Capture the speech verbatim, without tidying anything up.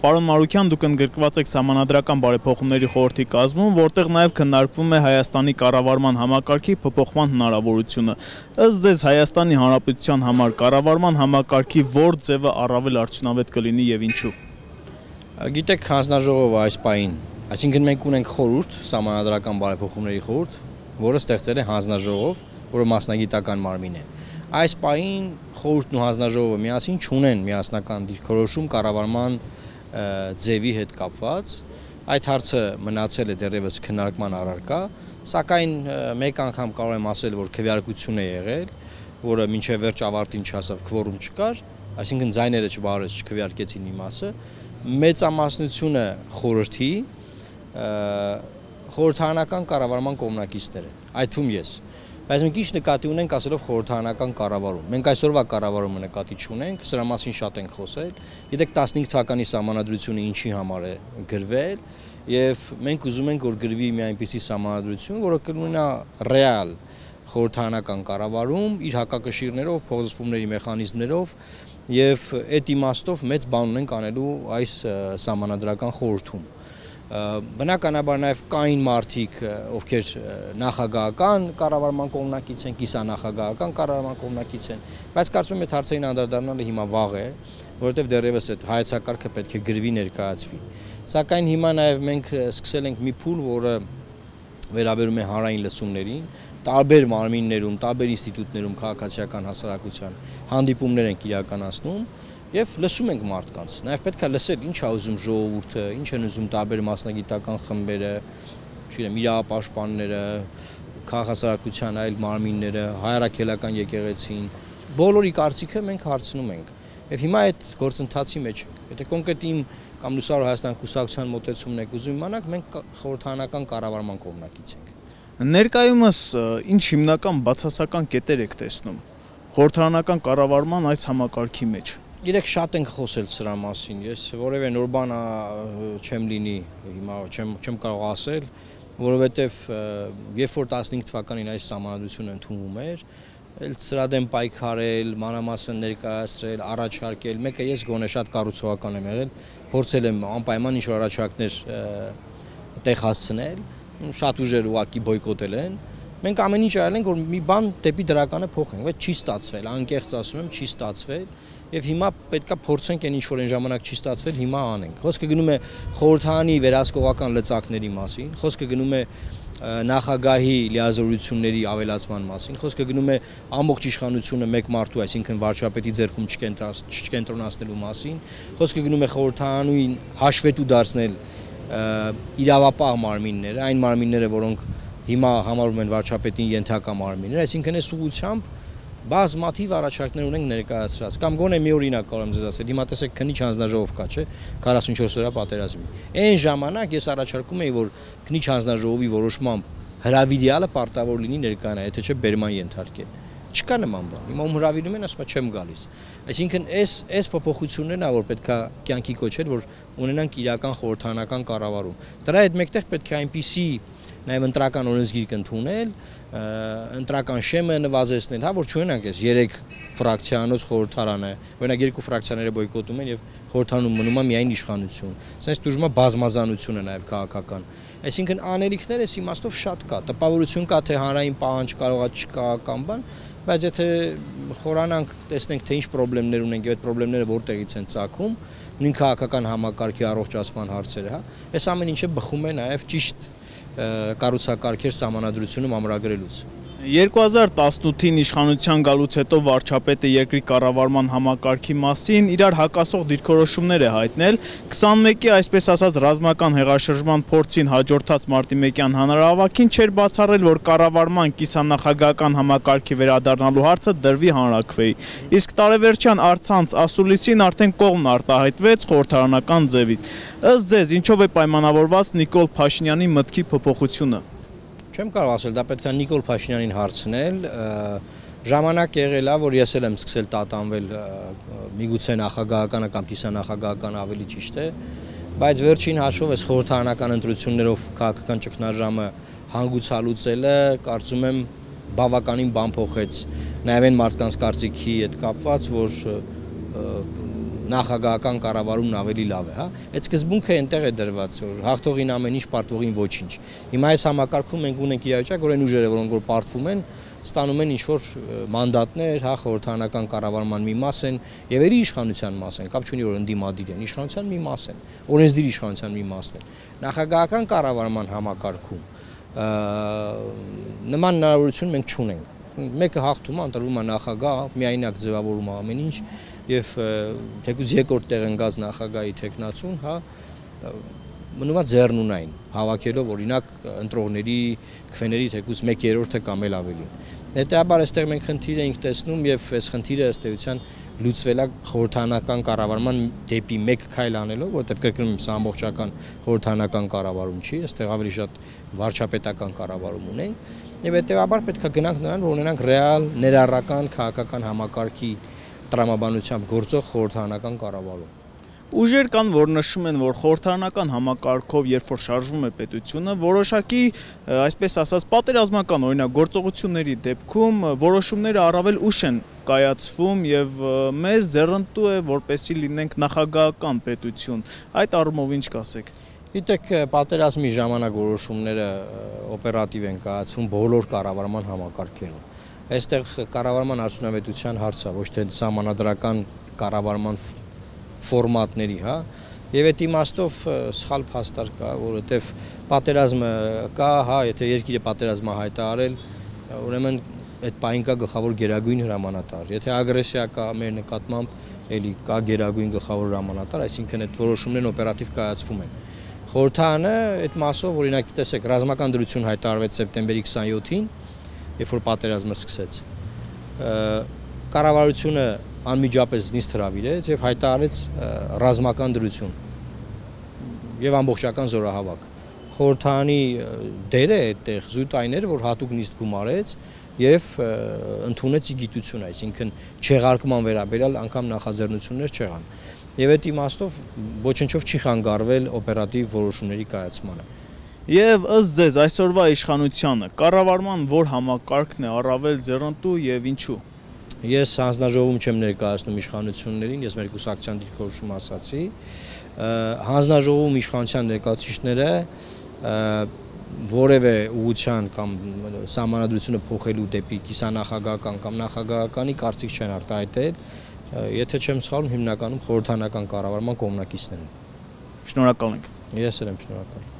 Պարոն Մարուկյան, դուք ընդգրկված եք Սահմանադրական բարեփոխումների խորհրդի կազմում, որտեղ նաև քննարկվում է Հայաստանի կառավարման համակարգի փոփոխման հնարավորությունը։ Ըստ ձեզ Հայաստանի Հանրապետության համար կառավարման համակարգի որ ձևը առավել արդյունավետ կլինի եւ ինչու։ Գիտեք, հանձնաժողովը այս պահին, այսինքն մենք ունենք խորհուրդ, Սահմանադրական բարեփոխումների խորհուրդ, որը ստեղծել է հանձնաժողով, որը մասնագիտական մարմին է։ Այս պահին խորհուրդն ու հանձնաժողովը միասին չունեն միասնական դիրքորոշում կառավարման ձևի հետ կապված, այդ հարցը մնացել է դեռևս քննարկման առարկա, սակայն մեկ անգամ կարող եմ ասել, որ քվեարկություն է եղել, որը մինչև վերջ ավարտին չհասավ, քվորում չկար, այսինքն ձայները չբարեց, չքվեարկեցին մի մասը, մեծամասնությունը խորհրդի խորհրդարանական կառավարման կողմնակիցներ են, այդ թվում ես։ Բայց մենք ինչ նկատի ունենք ասելով խորհրդարանական կառավարում։ Մենք այսօրվա կառավարումը նկատի չունենք, սրա մասին շատ ենք խոսել։ Գիտեք, տասնհինգ թվականի Սահմանադրությունը ինչի համար է գրվել, եւ մենք ուզում ենք, որ գրվի մի այնպիսի Սահմանադրություն, որը կունենա ռեալ խորհրդարանական կառավարում, իր հակակշիռներով, փոխզսպումների մեխանիզմներով, եւ այդ իմաստով մեծ բան ունենք անելու այս Սահմանադրական խորհրդում։ Բնականաբար նաև կային մարդիկ, ովքեր նախագահական կառավարման կողմնակից են, կիսանախագահական կառավարման կողմնակից են, բայց կարծում եմ այդ հարցերին անդրադառնալը հիմա վաղ է, որովհետև դեռևս այդ հայեցակարգը պետք է գրվի ներկայացվի։ Սակայն հիմա նաև մենք սկսել ենք մի փուլ, որը վերաբերում է հանրային լսումներին, տարբեր մարմիններում, տարբեր ինստիտուտներում քաղաքացիական հասարակության հանդիպումներ ենք իրականացնում եւ լսում ենք մարդկանց, նաեւ պետք է լսել ինչ է ուզում ժողովուրդը, ինչ են ուզում տարբեր մասնագիտական խմբերը, չգիտեմ, իրավապաշտպանները, քաղաքացիական այլ մարմինները, հայրաքելական եկեղեցին, բոլորի կարծիքը մենք հարցնում ենք։ Եվ հիմա այդ գործընթացի մեջ ենք։ Եթե կոնկրետ իմ կամ Լուսավոր Հայաստան կուսակցության մոտեցումն եք ուզում իմանալ, մենք խորհրդարանական կառավարման կողմնակից ենք։ Ներկայումս ինչ հիմնական բացասական կետեր եք տեսնում խորհրդարանական կառավարման այս համակարգի մեջ։ Գիտեք, շատ ենք խոսել սրա մասին, ես որևէ նոր բան չեմ լինի, հիմա չեմ չեմ կարող ասել, որովհետև երբ որ տասնհինգ թվականին այս Սահմանադրությունը ընդունվում էր, էլ սրա դեմ պայքարել, մանրամասն ներկայացրել, առաջարկել, մեկը ես գոնե շատ կառուցողական եմ եղել, փորձել եմ անպայման ինչ-որ առաջարկներ տեղ հասցնել, շատ ուժեր ուղղակի բոյկոտել են։ Մենք ամեն ինչ արել ենք, որ մի բան դեպի դրականը փոխենք, բայց չի ստացվել, անկեղծ ասում եմ, չի ստացվել, եւ հիմա պետքա փորձենք այն ինչ որ այն ժամանակ չի ստացվել, հիմա անենք։ Խոսքը գնում է խորհրդարանի վերահսկողական լծակների մասին, խոսքը գնում է նախագահի լիազորությունների ավելացման մասին, խոսքը գնում է ամբողջ իշխանությունը մեկ մարդու, այսինքն վարչապետի ձեռքում չկենտրոնացնելու մասին, խոսքը գնում է խորհրդարանին հաշվետու դարձնել իրավապահ մարմինները, այն մարմինները, որոնք հիմա համարվում են վարչապետին ենթակա մարմիններ, այսինքն այս ուղղությամբ բազմաթիվ առաջարկներ ունենք ներկայացրած, կամ գոնե մի օրինակ կարող եմ ձեզ ասել, հիմա տեսեք քննիչ հանձնաժողով կա, չէ, քառասունչորս օրյա պատերազմի։ Այն ժամանակ ես առաջարկում էի, որ քննիչ հանձնաժողովի որոշմամբ հրավիրյալը պարտավոր լինի ներկայանալ, եթե չէ բերման ենթարկել։ Չկա նման բան։ Հիմա ում հրավիրում են, ասում է չեմ գալիս։ Այսինքն այս այս փոփոխություններն ա որ պետքա կյանքի կոչել, որ ունենանք իրական խորհրդարանական կառավարում։ Դրա հետ մեկտեղ պետք է այնպիսի նաև ընտրական օրենսգիր կընդունել, ընտրական շեմը նվազեցնել, հա, որ չունենանք այս երեք ֆրակցիանոց խորհրդարանը, օրինակ երկու ֆրակցիաները բոյկոտում են եւ խորհրդարանում մնում է միայն իշխանություն։ Սենց դժվար բազմազանություն է նաև քաղաքական։ Այսինքն անելիքներ էս իմաստով շատ կա, տպավորություն կա, թե հանրային պահանջ կարողա չկա կամ բան, բայց եթե խորանանք, տեսնենք թե ինչ խնդիրներ ունենք եւ այդ խնդիրները որտեղից են ծագում, նույն քաղաքական համակարգի առողջացման հարցերը, հա, այս ամեն ինչը բխում է նաև ճիշտ կառուցակարգեր Սահմանադրությունում ամրագրելուց։ երկու հազար տասնութին իշխանության գալուց հետո վարչապետը երկրի կառավարման համակարգի մասին իրար հակասող դիրքորոշումներ է հայտնել, քսանմեկի այսպես ասած ռազմական հեղաշրջման փորձին հաջորդած մարտի մեկյան հանրահավաքին չէր բացառել, որ կառավարման կիսանախագահական համակարգի վերադառնալու հարցը դրվի հանրաքվեի, իսկ տարեվերջյան առցանց ասուլիսին արդեն կողմն արտահայտվեց խորհրդարանական ձևით։ Ըստ ձեզ, ինչով է պայմանավորված Նիկոլ Փաշինյանի մտքի փոփոխությունը։ Չեմ կարող ասել, դա պետք է Նիկոլ Փաշինյանին հարցնել, ժամանակ եղել է, որ ես էլ եմ սկսել տատանվել միգուցե նախագահականը կամ կիսանախագահականը ավելի ճիշտ է, բայց վերջին հաշվով այս խորհրդարանական ընտրություններով քաղաքական ճգնաժամը հանգուցալուծելը, կարծում եմ, բավականին բան փոխեց, նաև այն մարդկանց կարծիքի հետ կապված, որ նախագահական կառավարումն ավելի լավ է, հա։ Այդ սկզբունքը այնտեղ է դրված, որ հաղթողին ամեն ինչ, պարտվողին ոչինչ։ Հիմա այս համակարգում մենք ունենք իրավիճակ, որ այն ուժերը, որոնք որ պարտվում են, ստանում են ինչ-որ մանդատներ, հա, խորհրդարանական կառավարման մի մաս են եւ երի իշխանության մաս են, կապ չունի որ ընդդիմադիր են, իշխանության մի մաս են, օրենսդիր իշխանության մի մասն են։ Նախագահական կառավարման համակարգում նման հնարավորություն մենք չունենք։ Մեկը հաղթում է, ընտրվում է նախագահ, միայնակ ձևավորում է ամեն ինչ եւ թեկուզ երկրորդ տեղ ընկած նախագահի տեխնացուն, հա, մնում է ձեռնունայն, հավաքելով օրինակ ընտրողների, քվեների թեկուզ մեկ երրորդը կամ էլ ավելին։ Հետեւաբար այստեղ մենք խնդիր ենք տեսնում եւ այս խնդիրը ըստ էության լուծվել է խորհրդարանական կառավարման դեպի մեկ քայլ անելով, որովհետեւ կրկնում եմ, սա ամբողջական խորհրդարանական կառավարում չի, այստեղ ավելի շատ վարչապետական կառավարում ունենք եւ հետեւաբար պետք է գնանք նրան, որ ունենանք ռեալ ներառական քաղաքական համակարգի տրամաբանությամբ գործող խորհրդարանական կառավարում։ Ուժեր կան, որ նշում են, որ խորհրդարանական համակարգով, երբ որ շարժվում է պետությունը, որոշակի, այսպես ասած, պատերազմական օրինակ գործողությունների դեպքում որոշումները առավել ուշ են կայացվում եւ մեզ ձեռնտու է, որպեսզի լինենք նախագահական պետություն։ Այդ առումով ինչ կասեք։ Գիտեք, պատերազմի ժամանակ որոշումները օպերատիվ են կայացվում բոլոր կառավարման համակարգերում։ Այստեղ կառավարման արդյունավետության հարցը ոչ թե սահմանադրական կառավարման ֆորմատների, հա, եւ այդ իմաստով սխալ փաստար կա, որովհետեւ պատերազմը կա, հա, եթե երկիրը պատերազմը հայտարարել, ուրեմն այդ պահին կա գլխավոր գերագույն հրամանատար։ Եթե ագրեսիա կա մեր նկատմամբ, էլի կա գերագույն գլխավոր հրամանատար, այսինքն այդ որոշումներն օպերատիվ կայացվում են։ Խորհրդարանը այդ մասով, օրինակ, տեսեք, ռազմական դրություն հայտարարվեց սեպտեմբերի քսաներկուին, երբ որ պատերազմը սկսեց։ Կառավարությունը անմիջապես նիստ հրավիրեց եւ հայտարարեց ռազմական դրություն եւ ամբողջական զորահավաք։ Խորհրդարանի դերը այդտեղ զույգ այն էր, որ հատուկ նիստ գումարեց եւ ընդունեց իգիտություն, այսինքն չեղարկման վերաբերյալ անգամ նախաձեռնություններ չեղան։ Եվ այդ իմաստով ոչնչով չի խանգարվել օպերատիվ որոշումների կայացմանը։ Եվ ըստ ձեզ այսօրվա իշխանությանը կառավարման որ համակարգն է առավել ձեռնտու եւ ինչու։ Ես հանձնաժողովում չեմ ներկայացնում իշխանություններին, ես մեր կուսակցության դիրքորոշում ասացի, հանձնաժողովում իշխանության ներկայացուցիչները որևէ ուղղության կամ սահմանադրությունը փոխելու դեպի կիսանախագահական կամ նախագահականի կարծիք չեն արտահայտել, եթե չեմ սխալվում, հիմնականում խորհրդարանական կառավարման կողմնակիցներ են։ Շնորհակալ ենք։ Ես էլ եմ շնորհակալ։